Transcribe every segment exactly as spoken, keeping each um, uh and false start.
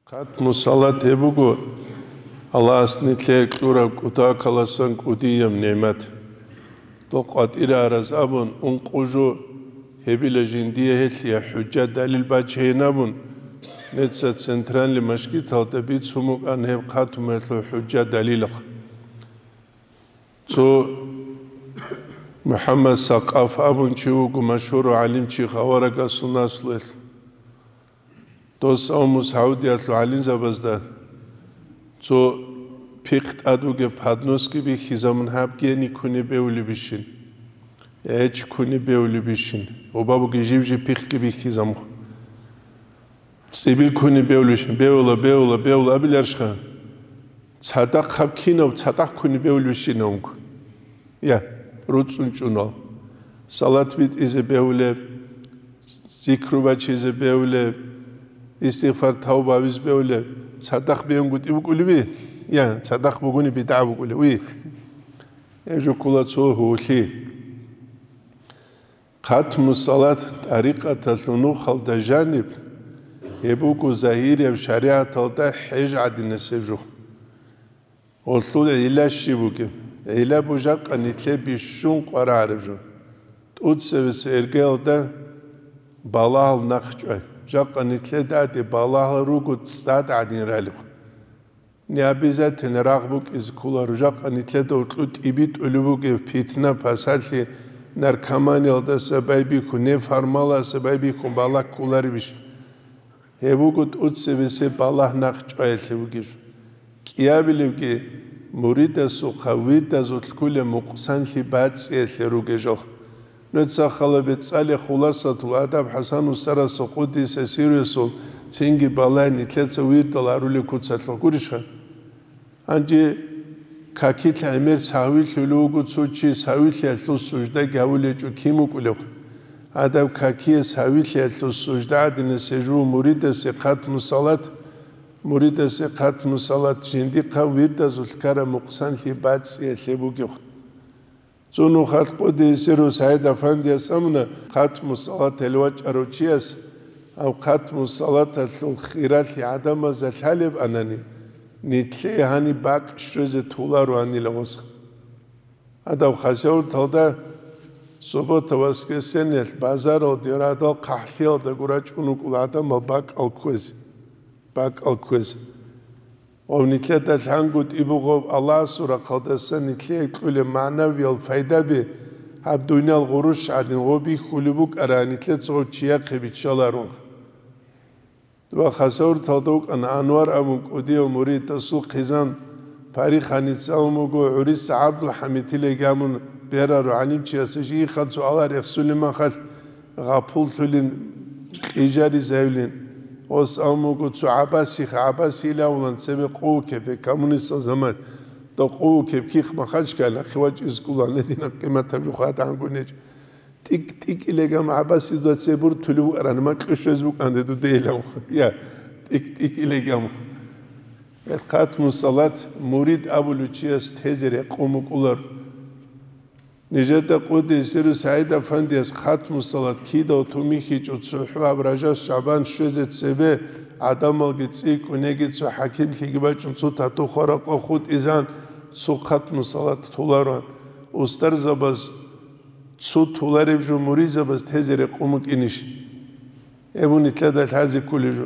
Хатму салат гьеб буго Аллагьас нилъее кьураб кутакаласан кӀудияб нигӀмат. Дол къватӀире араз абун, ункъо жо гьебила жиндие гьелъие хӀужжа-далил бачейин абун, неца центральный мажгиталда бицун букӀана гьеб хатмуялъул хӀужжа-далилахъ. Цо МухӀаммад Сакъаф абун чи вуго, машгьурав гӀалимчи, аварагасул наслуялъ. Дос авму Саудиялъул гӀалимзабазда цо пихъ тӀад вугеб подноски бихьизабун, гьаб гьени ккуни бевулебищин, гьечӀ ккуни бевулебищин, гъоба бугеб жиб-жиб пихъги бихьизабун. ЦӀибил ккуни бевлищ, бевла, бевла, бевла абиларищха? Цадахъ гьаб кинаб цадахъ ккуни бевлищинавунго? Я, руцӀцӀун чӀунал. Салат битӀизе бевлеб, зикру бачизе бевлеб, истигъфар, тавба гьабизе бевлеб, цадахъ бегьунгутӀи букӀулеби? Я, цадахъ бугони бидгӀа букӀулев, уй. Гьеб жо ккола цо гьулъи. Хатму салат тӀарикъаталъул нухалда жаниб, гьеб буго загьирияб шаригӀаталда хӀеж гӀадинасеб жо. Гьелъул гӀилла щиб бугеб? ГӀилла буго жакъа нилъее бищун къваригӀараб жо. ТӀуцебесеб иргаялда балагьал нахъ чӀвай. Жакъа нилъеда тӀаде балагьал руго цӀад гӀадин ралеб. Не обязательно рагъ букӀизе кколаро, жакъа нилъеда гьоркьоб тӀибитӀулеб бугеб питна-пасалъи, наркоманиялдаса байбихьун, не формаласа байбихьун балагь кколаребищ? Гьеб буго тӀуцебесеб балагь нахъ чӀваялъе бугеб жо. КӀиабилебги, муридасухъа вирдазулъ кколеб мукъсанлъи бацӀцӀиялъе ругел жо. Нуца хала бецӀалеб Хуласатул Адаб ХӀасан устарасул, къуддиса сирругьу, цинги балагье нилъеца вирдал гьарулел куцалъухъ, гурищха? Гьанже какилъ гӀемер сагьвилъулев вуго цо чи, сагьвилъиялъул суждаги гьавулев гьечӀо, кин вукӀулев? Гьадаб какие сагьвилъиялъул сужда гӀадинасеб жо муридасе хатму салат, муридасе хатму салат жиндихъа вирдазулъ ккараб мукъсанлъи бацӀцӀиялъе бугеб. Цо нухалъ къуддиса сирругьу СагӀид-Афандияс абуна, хатму салаталде вачӀарав чияс гьав хатму салаталъул хиралъи гӀадамазда лъалеб анани, нилъее гьаниб бакӀ щвезе толароанила гъос. Гьадаб Хасавюрталда суббота-воскресеньялъ базаралде радал хъахӀлъиялда гурачӀун вукӀула гӀадамал бакӀал кквезе, бакӀал кквезе. Ва нилъеда лъангутӀи бугеб Аллагьасул рахъалдаса нилъее кьолеб магӀнавиял пайдаби гьаб дуниял гъурущ гӀадин гъоб бихьулеб букӀараб нилъеца гъов чияхъе биччаларонха. Ва Хасавюрталда вукӀана Анвар абун кӀудияв мурид, досул хъизан Париханица абун буго, гӀуриса ГӀабдулхӀамид тилеги абун берарав гӀалимчияс, жийихъа цо алар рехсулин махалъ, гъапуллъулин, кьижаризавилин. Ос абун буго, цо ГӀаббасихъ, ГӀаббасилавулан цебе къувукеб, коммунистал заман, дов къувукеб кихъ махачкал, нахъе вачӀиз кколан, гьединаб къиматаб жо хадангунеч. ТӀик-тӀикӀилегам ГӀаббасидуда цебе бортулев вукӀарани, макьу щвез букӀанде дудейилав. Я, тӀик-тӀикӀилегам. Хатму салат мурид абулев чияс тезе рекъон букӀулар. Нижеда къуддиса сирругьу СагӀид-Афандияс хатму салат кидав тумихьичӀо, цохӀо гьаб Ражаб-ШагӀбан щвезе цебе гӀадамалги цӀикӀкӀунеги цо хӀакимлъиги бачӀун, цо тату хваракъа хутӀизан, цо хатму салат толароан. Устарзабаз цо толареб жо муридзабаз тезе рекъон букӀинищ? Гьеб нилъеда лъазе кколеб жо.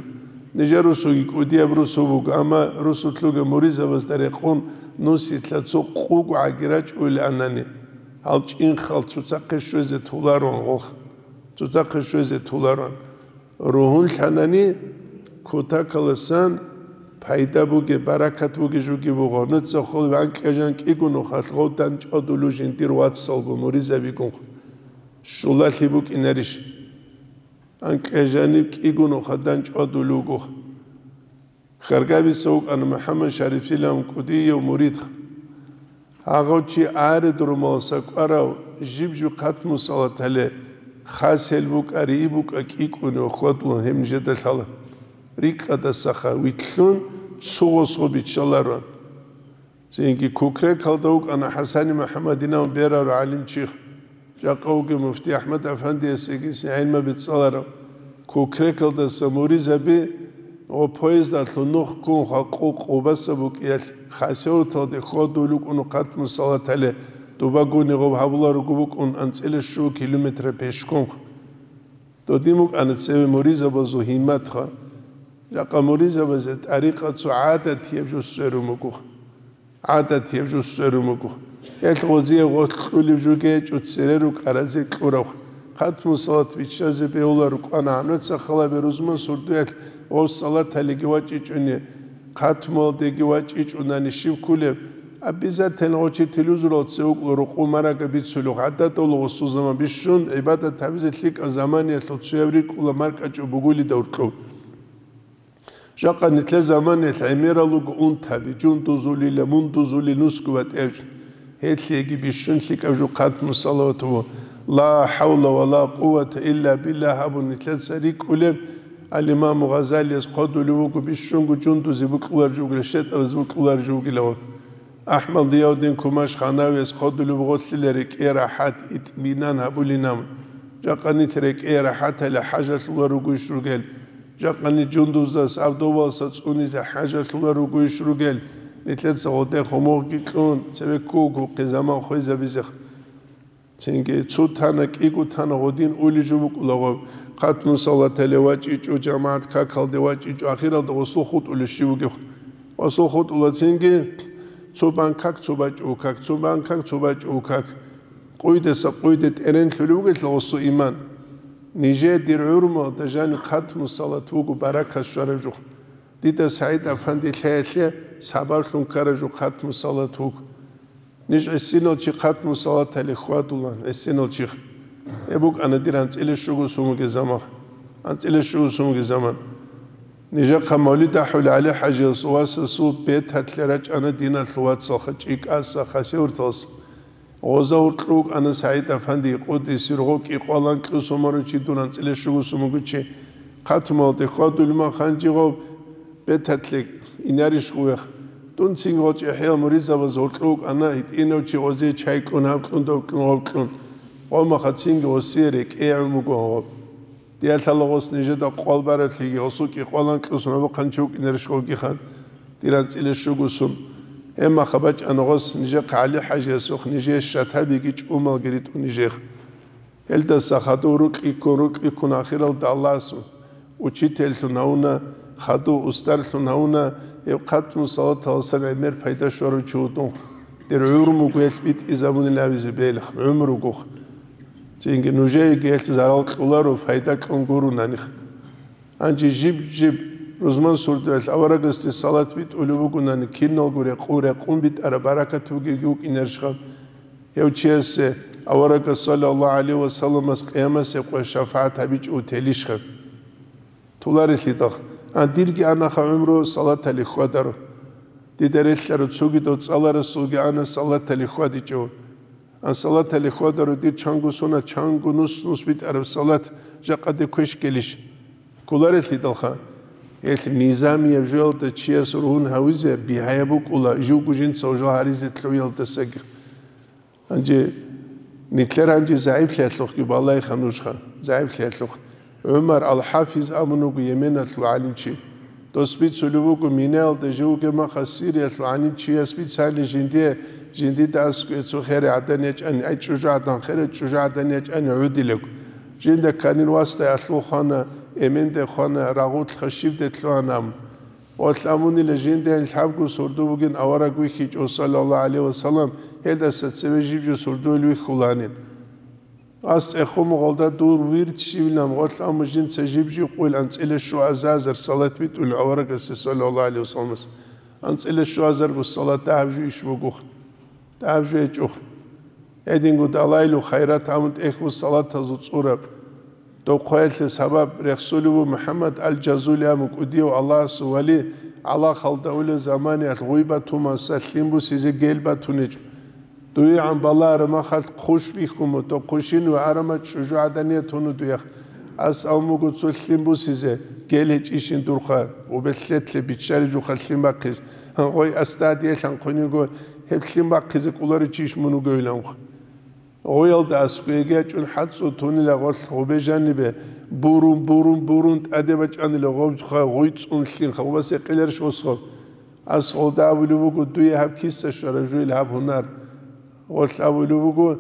Нижер русуги кӀудияб русу буго, амма русулъ ругел муридзабазда рекъон нусилъа цо къугӀаги рачӀулел анани, гьал чӀинхал цоцахъе щвезе толароан гъох. Цоцахъе щвезе толароан. Ругьунлъанани кутакаласан пайда бугеб, баракат бугеб жуги буго. Нуца хъулиб анкьа-жан кӀиго нухалъ гъов дандчӀвадулев жиндир вацалго муридзабигун щулалъи букӀинарищ? Анкьа-жаниб кӀиго нухалъ дандчӀвадулев вуго. Хьаргабица вукӀана МухӀаммад Шарифилан кӀудияв мурид. Гьагъав чи аред румалса кӀварав жиб-жиб хатму салатале хасел букӀа, рии букӀа кӀикӀкӀуне ва хьвадулан гьеб нижеда лъала. РикӀкӀадасаха вилълъун цо гъосго биччалароан. Цинги Кукрекалда вукӀана ХӀасани МухӀаммадинав берарав гӀалимчи, жакъа вугев муфти АхӀмад Афандиясеги гӀилмаби цӀаларав. Кукрекалдаса муридзаби Гъо поездалъун нух ккун хвакъу Къубаса букӀиялъ Хасавюрталде хьвадулев вукӀун хъатму салат гьале, дубагуни гъоб гьабуларуго букӀун анцӀила щуго километр пешком. Додин букӀана цеве муризабазул гьимматха. Жакъа муризабазе тӀарикъа цо гӀадатияб жо сверун буго. ГӀадатияб жо сверун буго. Гьелъ гъозие гъоркь кьулеб жо гьечӀо цере рукӀаразе кьурав. Хъатму салат биччазе бегьула рукӀана гьануца халабе рузман сурдуялъ гъов салат гьалиги вачӀичӀони, хъатмуялдеги вачӀичӀунани щив ккулеб? Обязательно гъо чи телевизоралда цеве вукӀула рукъу марага бицулев, гӀадаталда гъосул заман бищун гӀибадат гьабизе лъикӀаб заманиялъул цояб рикӀкӀула маркӀачӀу бугулида уркьуб. Жакъа нилъер заманиялъ гӀемерал руго унтаби, жундузулила, мундузулил нусго батӀевчӀ. Гьелъиеги бищун лъикӀаб жо хъатму салават ва ла хӀавла ва ла къуввата илла биллагь абун нилъеца рикӀкӀулеб, ал-Имаму Гъазалияс хъодулев вуго бищунго жундузе букьулар жугила, щетӀабаз букьулар жугила. АхӀмад Зиявдин Кумаш Ханавияс хъодулев гъолъила рекӀее рахӀат, итминан гьабулинан. Жакъа нилъ рекӀее рахӀаталъе хӀажалъулар ругойищ ругел? Жакъани жундуздас автобуса цӀунизе хӀажалъулар ругойищ ругел? Нилъеца гъоде хомогьги кьун, цеве ккугухъе заман хвезабизех. Цинги цо тана, кӀиго тана гъодин ули жо букӀулаго, хъатму салатале вачӀичӀо, жамагӀат какалде вачӀичӀо, ахиралда гъосул хутӀулев щив вугев? Гъосул хутӀула цинги цо бан как, цо бачӀо как, цо бан как, цо бачӀо как. Къуйдаса къуйде тӀеренлъулев вугелъул гъосул иман. Нижее дир гӀурмуялда жаниб хъатму салат вуго баракат щвараб жо. Дида СагӀид Афанди лъаялъе сабаблъун ккараб жо хъатму салат вуго. Ниж гӀисинал чи хъатму салатале хьвадулан, гӀисинал чихъ. Гьеб букӀана дир анцӀила щуго сумуги заман. АнцӀила щуго сумуги заман. Нижехъа мавлид ахӀулев ГӀали-хӀажиясул васасул беталъе рачӀана диналъул вацалха чӀикӀаса Хасавюрталъ. Гъоза гьоркьов вукӀана СагӀид Афанди, къуддиса сиргъо кӀикъвалан кьусун марав чи, дун анцӀила щуго сумуги чи. Хъатмуялде хьвадулев мах гьанже гъов беталъе инарищ гъувех? Дун цинги гъол чӀехӀиял муридзабаз гьоркьов вукӀана, гьитӀинав чи гъозие чай кьун, гьаб кьун, дов кьун, гъов кьун. Гъомаха цинги гъосие рекӀее гӀумруго гьоб. Диялъала гъос нижеда къвал бараблъиги, гъосул кӀикъвалан кьусун гьабухъан чи вукӀинарищ гъовгиха, дир анцӀила щуго сум. Гьебмаха бачӀана гъос нижехъ ГӀали-хӀажиясухъ, нижее шатабиги чӀумалги ритӀун нижехъ. Гьелдаса хадув рукьи ккун, рукьи ккун, ахиралда Аллагьас учительлъун гьавуна, хадув устарлъун гьавуна, гьеб хъатму салаталасан гӀемер пайда щварав чи вугев, дир гӀумруго гьелъ битӀизабунилан абизе белха, гӀумругуха. Цинги нужееги гьелъ зарал кьоларо, пайда кьун гурони. Гьанже жиб-жиб рузман сурдуялъ аварагасде салат битӀулеб бугони, киналго рекъон-рекъон битӀараб баракат бугебги вукӀинарищха? Гьев чиясе аварагас, саллаллагьу гӀалайгьи ва салламас, къиямасеб къоялъ шафагӀат гьабичӀого телищха? Толарелъидал. А дирги анаха гӀумру салаталде хьвадаро. Дида релълъарав цогидав цӀаларасулги ана салаталде хьвадичӀого. А салаталде хьвадаро дир чанго сунат, чанго нус-нус битӀараб салат жакъаде квеш гьелищ? Кколарелъидалха. Гьелъ низамияб жоялда чияс ругьун гьавизе бигьаяб букӀула, живго жинца гьужал гьаризе лъугьиялдасаги. Гьанже нилъер гьанже загӀиплъиялъухъги балайха нужха, загӀиплъиялъухъ. ГӀумар ал-ХӀафиз абун вуго Йеменалъул гӀалимчи. Дос бицулев вуго, Минаялда жив вугеб махалъ Сириялъул гӀалимчияс бицани жиндие, жиндида аскӀове цо херай гӀадан ячӀани, ай чӀужугӀадан, херай чӀужугӀадан ячӀани гӀодилаго. Жинда кканин васдай алъул хвана, эмендай хвана, рагъулъха щибдай лъугьана абун. Ва лъамунила жиндайин лъабго сурду бугин авараг вихьичӀо, саллаллагьу гӀалайгьи ва саллам, гьелдаса цеве жиб-жиб сурдуйил вихьуланин. Ас цӀехо мугъалда дур вирд щивилан, ва лъаму жинца жиб-жиб къуйил анцӀила щуазазар салат битӀулев аварагасе, саллаллагьу гӀалайгьи ва салламас. АнцӀила щуазарго салат дагьаб жо иш бугоха. Дагьаб жо гьечӀоха. Гьединго далайлу хайрат гьабун тӀехьго салатазул цӀураб. Дов хъваялъе сабаб рехсолев вуго МухӀаммад ал-Жазули абун кӀудияв Аллагьасул вали, гӀалахалда улел заманиялъ гъуй батумаса лъим бусизе гел батунечӀо. ДугӀигӀан балагьараб махалъ хъущ бихьун буго, дов хъущин ва арама чӀужугӀаданият гьуну дуях. Ас абун буго цо лъим бусизе, гел гьечӀищин дурха, убелъетлъе биччари жуха лъим бахъиз. Гъой астадиялъан хъуниго гьеб лъим бахъизе кӀоларичи иш мун вугевиланха. Гъоялда аскӀовеги ячӀун хӀацӀцӀу тунила гъолъ гъубе жанибе, Бурун, бурун, бурун, тӀаде бачӀанила гъобха, гъуй цӀун лъин, хабубас гьекъиларищ гъосго? Ас гъолда абулеб буго, дуе гьаб киса щвара жуйил гьаб гьунар. Гъолъ абулеб буго,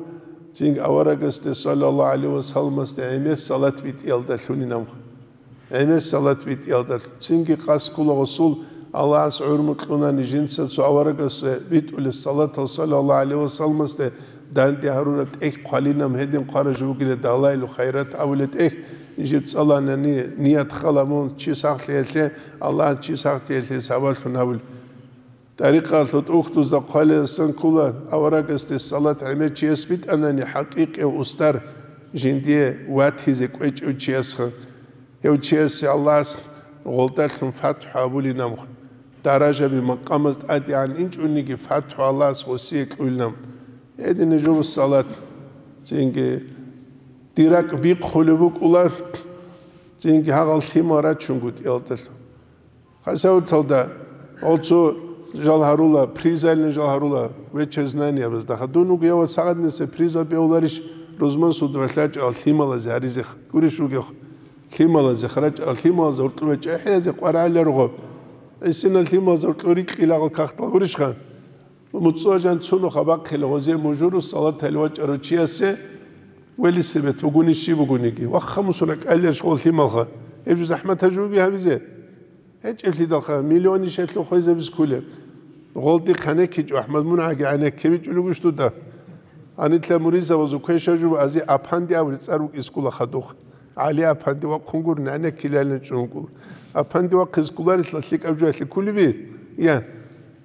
цинги аварагасде, саллаллагьу гӀалайгьи ва салламасде, гӀемер салат битӀиялда лъунин абха. ГӀемер салат битӀиялда. Цинги къаскула гъосул Аллагьас гӀумру кьунани жинца цо аварагасде битӀулес салатал, саллаллагьу гӀалайгьи ва салламасде, данде гьарураб тӀехь хъвалинаб гьедин хъвараб жо бугила далаил хайрат абулеб тӀехь, жиб цӀаланани ният хала мун чи сахлъиялъе, Аллагьас чи сахлъиялъе сабаблъун гьабул. ТӀарикъалъул тӀухьдузда хъвалиласан ккола, аварагасде салат гӀемер чияс битӀанани хӀакъикъияв устар жиндие ватизе кӀвечӀев чиясха. Гьев чиясе Аллагьас гъолдалъун фатхӀу абулин абха. Даражаби макъамаз тӀадегӀан инчӀониги фатхӀу Аллагьас гъосие кьуйилан. Гьедин жо салат. Цинги дир ракӀ бихъулеб букӀула, цинги гьагъал лъимал рачунго тӀиялдалъун. Хасавуталда гъол цо жал гьарула, призалин жал гьарула, вече знания безда. Ха дун вугев сагъаднесе приза бевларищ, рузман суд валъачӀал лъималазе гьаризех гурищ вугев. Лъималазе харачӀал лъималазе гьоркьове чӀехӀезе къварагӀаларго. Гьесина лъималазе гьоркьо рикьилагъал кахтал гурищха? МуцӀцӀу жан цунуха бахъила гъозе мужуру салатали вачӀарав чиясе велисебет бугуни щиб бугониги. Вахха мусура кӀалерш гъол лъималха. Гьеб жо захӀмат гьажуги гьабизе. ГьечӀеблъидалха миллионишалъул хвезабиз кколеб. Гъолди хъанеккичӀо, АхӀмад, мун гӀаги гӀенеккебичӀулев гуш дуда. Гьанитла муризабазул квеша жуба ази Апанди абули цӀар вукӀискула хадух. ГӀали Апанди вахъун гур, гӀенеккилалин чӀунгул. Апанди вахъискуларилъа лъикӀаб жуялъе кколеби? Я.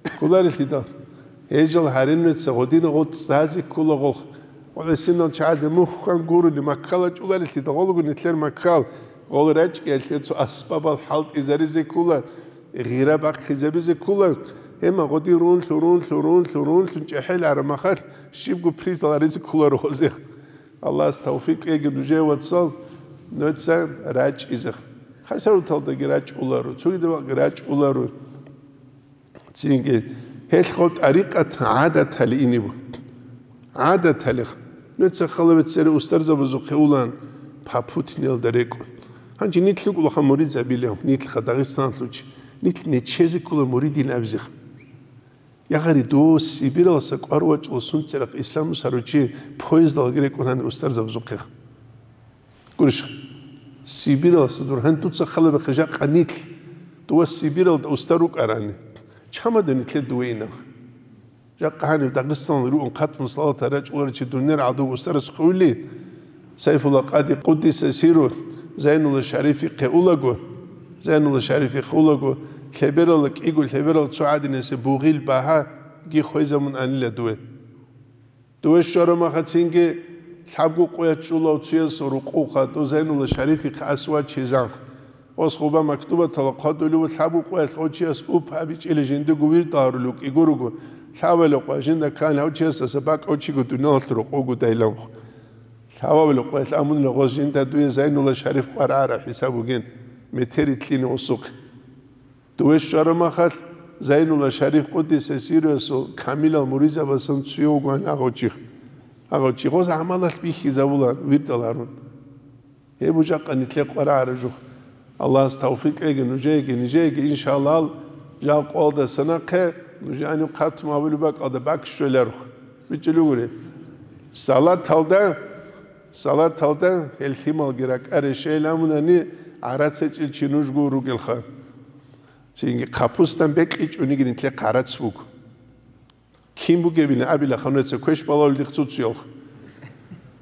Кколарелъидал, гьежал гьаринмеца гъодина гъо цӀазе ккола гъолх. Гъолесинал чагӀазе мухьан гурони маккала чӀуларелъидал, гъолго нилъер маккал, гъол рачӀиялъе цо асбабал хӀалтӀизаризе ккола, гъира бахъизабизе ккола. Гьема гъоди рунлъу, рунлъу, рунлъу, рунлъун чӀехӀел арамахалъ щибго призал гьаризе кколаро гъозех. Аллагьас тавфикъ кьеги нужее, вацал, нуца рачӀизе. Хасавуталдаги рачӀуларо, цогидабаги рачӀуларо. Цинги гьелъго тӀарикъат гӀадатали иниб. ГӀадаталих. Нуца халаве цере устарзабазухъе улан Папутинелда рекӀун. Гьанже нилъ рукӀулаха муридзабилев, нилъха Дагъистаналъучи. Нилъ нечезе ккола муридин абизех. Ягъари дов Сибиралса кӀвар вачӀула сунцерахъ исламус гьаручи поездалги рекӀун гьанир устарзабазухъех. Гурищ, Сибиралса дур гьан дуца халабихъе жакъа нилъ, дова Сибиралда устар рукӀарани, чамада нилъер дувейинах. Жакъа гьаниб Дагъистаналда ругун хъатму салата рачӀуларичи дунер гӀадуг устарас хъули, Сайфулла Къади Къуддиса сиру Зайнулла Шарифихъе улаго, Зайнулла Шарифихъе улаго, лъеберала кӀиго лъеберал цо гӀадинасе бугъил багьаги хвезамун анила дуе. Дуе щварамахацинги лъабго къоя чӀулав цуяс рукъуха, дозайнула Шарифихъ асвачизанх. Ос гъуба мактубатала хъвадулев лъабго къоялъ гъочияс уп абичӀили жиндиго вирд гьарулев кӀигоруго, лъавали къоя жинда ккани гьав чиясдаса бакӀав чиго дуниялалъ рукъуго дайланхъ. Лъавали къоялъ амунила гъос жинда дуе Зайнулла Шариф къварагӀара хӀисаб бугин, метери кьине осухъ. Дуе щварамахалъ Зайнулла Шариф Къуддиса сирруясул камилал муризабасан цуе вугоан агъав чи. Агъав чи гъоз гӀамалалъ бихьизабула вирдал гьарун. Гьеб бужахъа нилъе къварагӀара жух. Аллагьас тавфикъ кьеги нужееги, нижееги, иншаллагь, жал къоялдаса нахъе нуж гьаниб хъатум абулеб бакӀалда бакӀ щвеларухъ. БичӀчӀулев гури. Салаталда, салаталда гьел лъималги ракӀа решейил амунани, гӀарац гьечӀел чи нужго ругелха. Цинги хъапустан бекьичӀониги нилъе хъарац буго. Кин бугебилан абилаха, нуца квеш балалдихъ цуцуялха.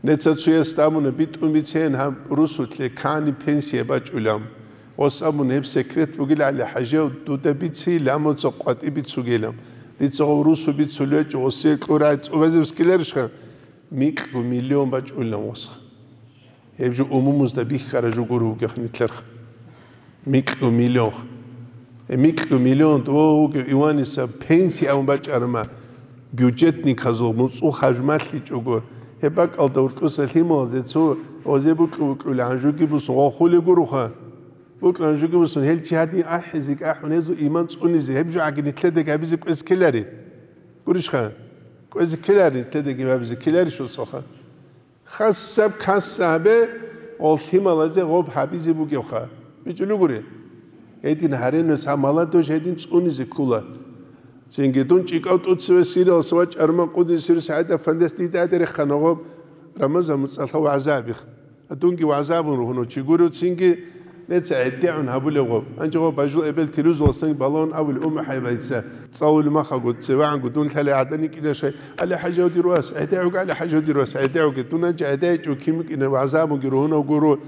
Неца цуяс абуна, битӀун бицен гьаб русулъе кани пенсия бачӀулам. Гъос абуна, гьеб секрет бугилали хӀажав дуда бици, ламуца къватӀи бицугелам. Дица гъов русу бицулечӀо, гъосие кьурай цӀубазеб скиларищха? Микьго миллион бачӀулилан восха. Гьеб жо умумузда бихьара жо гуро вугехъ нилъерха. Микьго миллион. Гьеб микьго миллион дов вугев Иваниса пенсия абун бачӀарама, бюджетниказул муцӀул хажмалъичӀого, гьеб бакӀалда уртӀуса лъималазе цо озе букьу-букьули гьанжуги бусун гъохули гуруха. Букьу гьанжуги бусун гьел чи гьадин ахӀизе кӀахӀун гьезул иман цӀунизе, гьеб жо гӀаги нилъедаги гьабизе кӀвез ккелари. Гурищха? КӀвезе ккелари нилъедаги гьабизе ккеларищ усалха? Хасаб касса гьабе, Гъол лъималазе гъоб гьабизе бугевха. БичӀулев гури. Гьедин гьаренас гьаб молодёжь гьедин цӀунизе ккола. Цинги дун чӀикӀав тӀуцеве сиралъ ва чӀарман къудисе сирус гьайда фандес дида рехъана гъоб Рамазан муцӀалъа вагӀза абих. Дунги вагӀза абун ругьуна чи гуро, цинги неца гӀедегӀун гьабулев гъоб. Гьанже гъоб бажул эбел тирузуласан балагьун абулев умахӀай байца. ЦӀалулев махаго цевагӀанго дун лъалей гӀадани кӀида шай. Али хӀажав дир вас, гӀедегӀуги, али хӀажав дир вас, гӀедегӀуги. Дун гьанже гӀедегӀичӀо ким вукӀина вагӀза абунги ругьунав гуро.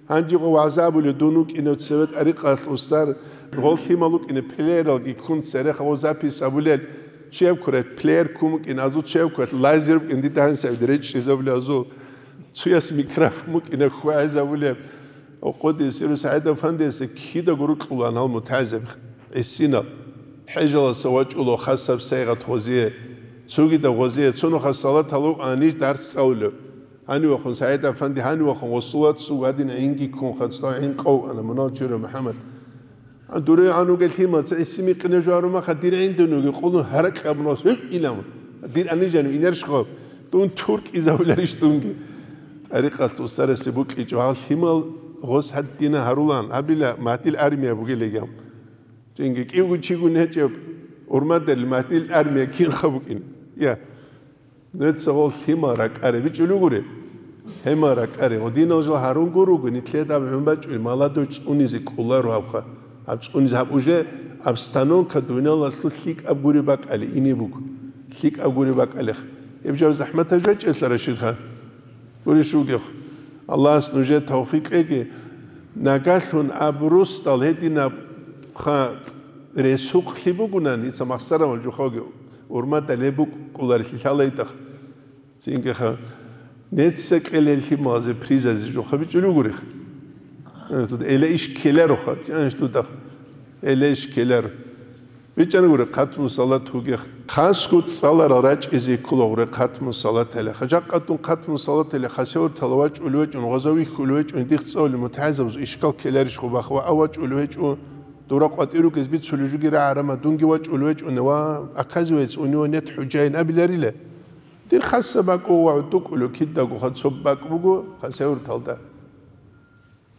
Гьанже гъо вагӀза абулев дун вукӀинев цеве тӀарикъалъ устар, гъол лъимал вукӀине плеералги ккун цереха гъо запись абулел, цуяб ккурай плеер ккун вукӀин, азул цуяб ккурай лазер вукӀин, дида гьанисаби речӀчӀизабулев азул, цуяс микрофон вукӀине хьвагӀизабулеб. Къудисе сирус гьайда фандесе кидаго рукьулан гьал мутагӀилзаби гӀисинал. ХӀежаласа вачӀула хасаб сайгъат гъозие, цогидаб гъозие, цо нухалъ салат гьалукъани дарс цӀалулев. Гьанивахъун СагӀид-афанди, гьанивахъун гъосулат сугадин гӀинги ккун хацлъа гӀин къов ана, мунал чура МухӀаммад. А дуре гьануге лъимаца гӀиси микъине жугьарумаха, дир гӀиндунуги къулун гьаракь абунас гьуй иламун. Дир анижанив инаршгъаб, дун тур кӀизавуларищ дунги. ТӀарикъалъ устарасе букӀичӀо, гьал лъимал гъос гьаддина гьарулан, гьабила матил армия бугелегам. Цинги кӀивгун чигун гьечӀеб, урмадал матил армия кинха букӀин. Я. Нуца гъол лъимал ракӀаре бичӀулев гури? Лъимал ракӀаре. Гъодинал жал гьарун гуруго, нитлъедаб гӀун бачӀули, молодой цӀунизе кӀоларо гьабха. Гьаб цӀунизе гьаб уже обстановка дуниялалъул лъикӀаб гури бакӀали ине буго. ЛъикӀаб гури бакӀалиха. Гьеб жав захӀматаб жачӀелъа, Рашидхан? Гурищ вугев. Аллагьас нужер тавфикъ кьеги. Нагагьлъун аб русдал гьединаб ха ресукълъи бугунан, дица махсарамал жухаги урмада леб букӀуларелъи лъалайдах. Цинги ха, неца кьелел лъималазе призазе жуха бичӀулев гурих. Э, тут эла иш ккеларо ха, чанаш тудах. Эла иш ккеларо. БичӀана гури, хъатму салат вугех. Хасго цӀаларал рачӀизе ккола гури хъатму салат гьале. Хажакъатун хъатму салат гьале, хасевартала вачӀулев вачӀун, гъазавихьулев вачӀун, дих цӀалулев мутагӀилзабаз ишкал ккеларищ гъубахъ ва а вачӀулев вачӀун, дура къватӀирукез бицулев жуги рагӀарама, дунги вачӀулев вачӀуна ва, оказывается, у него нет хӀужаин абиларила. Дир хасса бакӀ буго ва гӀудукӀулев кидаго ха цо бакӀ буго хасеварталда.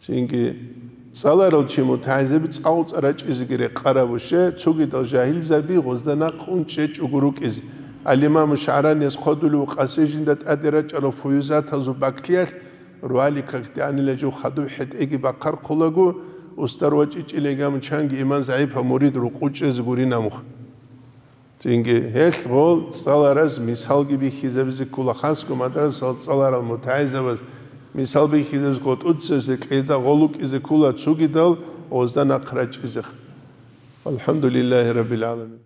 Цинги цӀаларал чи мутагӀилзаби цӀакъ-цӀакъ рачӀизеги рекъарабуше, цогидал жагьилзаби гъозда нахъ унчӀ гьечӀого рукӀизе. Ал-Имаму ШагӀранияс хъвадулев къаси жинда тӀаде рачӀарал фуюзатазул бакӀлъиялъ, руали какде анила жив хадуб хӀетӀеги бахъархъулаго, устар вачӀичӀилан гьамун чанги иман загӀипаб мурид рукъучӀезе гурин амухъ. Цинги гьелъ гъол цӀалараз мисалги бихьизабизе ккола, хасго мадрасал цӀаларал мутагӀилзабаз мисал бихьизабизе ккола, тӀуцебесеб кьеда гъол вукӀизе ккола, цогидал гъозда нахъ рачӀизеха. АлхӀамдулиллагьи раббил гӀаламин.